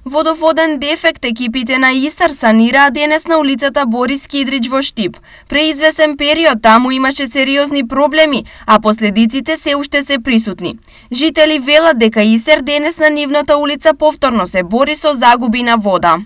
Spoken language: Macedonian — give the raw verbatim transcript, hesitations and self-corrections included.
Водоводен дефект екипите на Истар санираа денес на улицата Борис Кидрич во Штип. Преизвесен период таму имаше сериозни проблеми, а последиците се уште се присутни. Жители велат дека Истар денес на нивната улица повторно се бори со загуби на вода.